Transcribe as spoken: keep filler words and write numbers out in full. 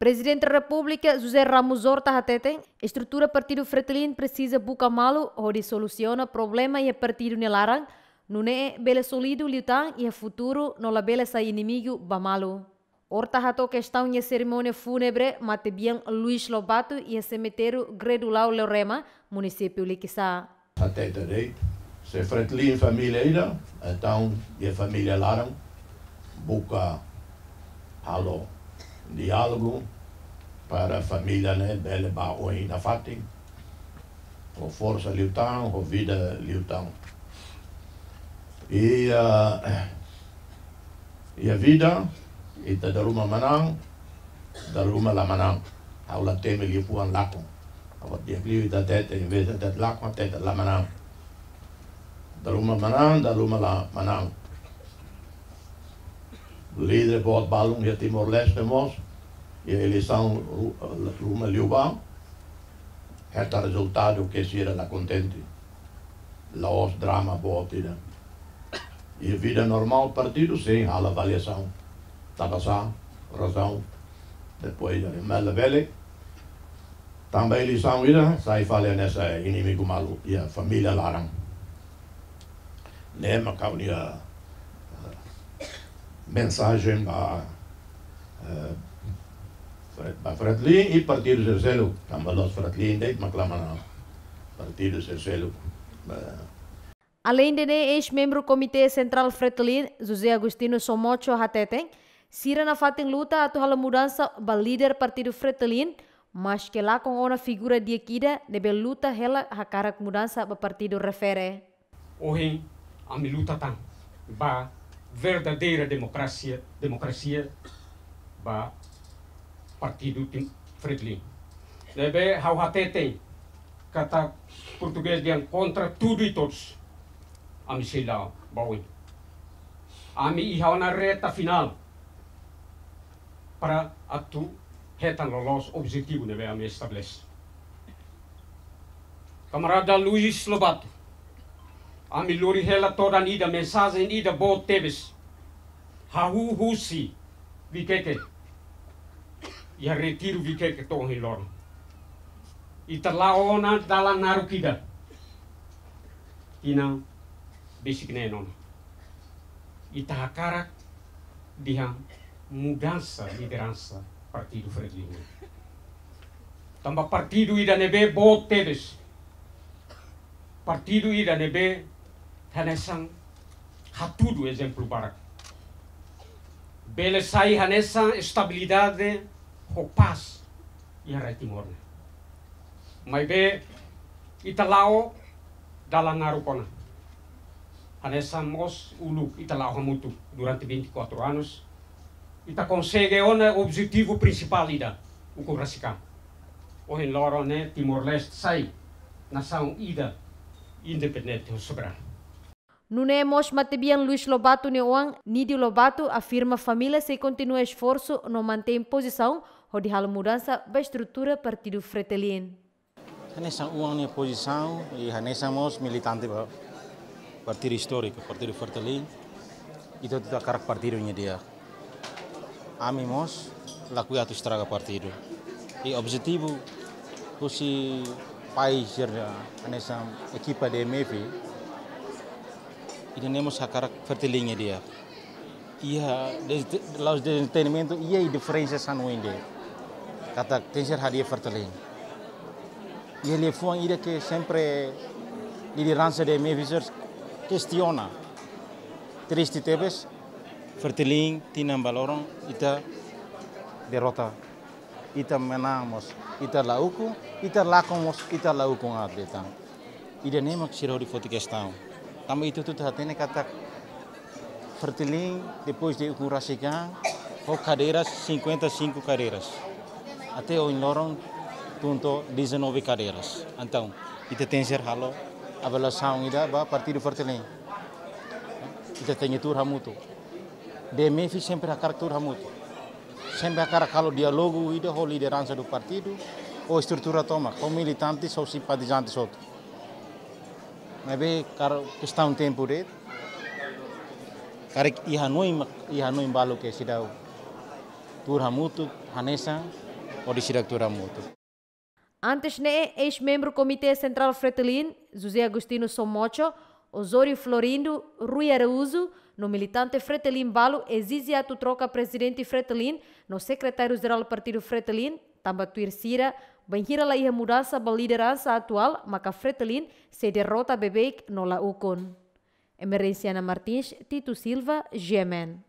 Prezidente Repúblika José Ramos Horta hateten, estrutura partidu Fretilin presiza buka malu hodi solusiona problema iha partidu nia laran, nune'e bele sólidu liután iha futuru no labele sai inimigu ba malu. Horta hato'o kestaun iha serimónia fúnebre matebian Luis Lobato iha semitériu Gredulau Leorema, munisípiu Likisá. Hatete de'it, se Fretilin família ida, entaun iha família laran buka halo diálogu para família ne'e bele ba oin nafatin, ho forsa liután, ho vida liután. I, ah, iha vida, ita dala ruma manán, dala ruma la manán. Ha'u la temi liafuan lakon. Ha'u di'ak liu ita hatete, envezde hatete lakon, hatete la manán. Dala ruma manán, dala ruma la manán. Líder boot balun iha Timor-Leste mós, iha eleisaun ru-, ruma liubá, hetan rezultadu ke sira la kontente. La'ós drama boot ida. Iha vida normál partidu, sin, halo avaliasaun. Tanba sá, razaun. Depois, eh, mas labele. Tanba eleisaun ida, sai fali hanesan inimigu malu, iha família laran. Ne'e mak ha'u-nia, eh, mensajen ba, eh, Fre-, ba Fretilin i partidu sira seluk, tanba la'ós Fretilin de'it mak la manán, partidu sira seluk. Eh. Aleinde ne'e, eis-membru Komité Sentrál Fretilin, José Agostinho Somocho hateten, sira nafatin luta atu halo mudansa ba líder partidu Fretilin, maske lakon ona figura di'ak ida ne'ebé luta hela hakarak mudansa ba partidu refere. Ohin ami luta tan ba verdadeira demokrasia, demokrasia ba partidu Tim-, Fretilin. Ne'ebé ha'u hateten katak portugés dehan kontra tudu i todus. Ami sei la ba oin. Ami iha ona reta finál para atu hetan loloos objetivu ne'ebé ami estabelese. Kamarada Luis Lobato, ami lori hela todan ida mensajen ida boot tebes. Hahú husi Vikeke. Iha retiru Vikeke to'o ohin loron. Ita la'o ona dalan naruk ida. Tinan besik neen ona. Ita hakarak dehan mudansa lideransa partidu Fretilin. Tanba partidu ida ne'ebé boot tebes. Partidu ida ne'ebé hanesan hatudu ezemplu barak. Bele sai hanesan estabilidade ho pás iha rai Timor ne'e. Maibé ita la'o dalan naruk ona. Hanesan mós uluk ita la'o hamutuk durante vinte e quatro anos. Ita konsege ona objetivu prinsipál ida, ukun rasik an. Ohin loron ne'e Timor-Leste sai nasaun ida independente ho soberanu. Nune'e mós matebian Luis Lobato nia oan, Nidio Lobato, afirma família sei kontinua esforsu no mantein pozisaun hodi halo mudansa ba estrutura partidu Fretilin. Hanesan oan nia pozisaun i hanesan mós militante ba partidu istóriku, partidu Fretilin, ita hotu hakarak partidu nia di'ak. Ami mós lakohi atu estraga partidu. I objetivu husi país sira hanesan ekipa D M F, ida-ne'e mós hakarak Fretilin nia di'ak. Iha des-, la'ós dezentendimentu, iha diferensa sira-ne'e de'it. Katak tenke ser hadi'a Fretilin. Iha liafuan ida ke sempre lideransa D M F sira kestiona. Triste tebes, Fretilin tinan ba loron ita derrota. Ita manán mós ita la ukun, ita lakon mós ita la ukun aat liután. Ida-ne'e mak sira hodi foti kestaun. Tanba ita hotu hatene katak Fretilin, depois de ukun rasik an, ho kadeiras, cinquenta e cinco cadeiras. Até ohin loron tun to'o dezanove cadeiras. Entaun, ita tenke ser halo avaliasaun ida ba partidu Fretilin. Ita tenke tuur hamutuk. D M F sempre hakarak tuur hamutuk. Sempre hakarak halo diálogu ida ho lideransa do partidu, ho estrutura tomak, ho militantes, ho simpatizantes hotu. Maibé karik kestaun tempu de'it, karik iha hanoin mak, iha hanoin balu ke seidauk tuur hamutuk hanesan hodi sira atu hamutuk. Antes ne'e, eis-membru Komité Sentrál Fretilin, José Agostinho Somocho, Osório Florindo, Rui Araújo, no militante Fretilin balu ezije atu troka Prezidente Fretilin no Sekretáriu-Jerál Partidu Fretilin, tanba tuir sira, bainhira la iha mudansa ba lideransa atuál, maka Fretilin sei derrota beibeik no la ukun. Emerenciana Martins, Tito Silva, G M N.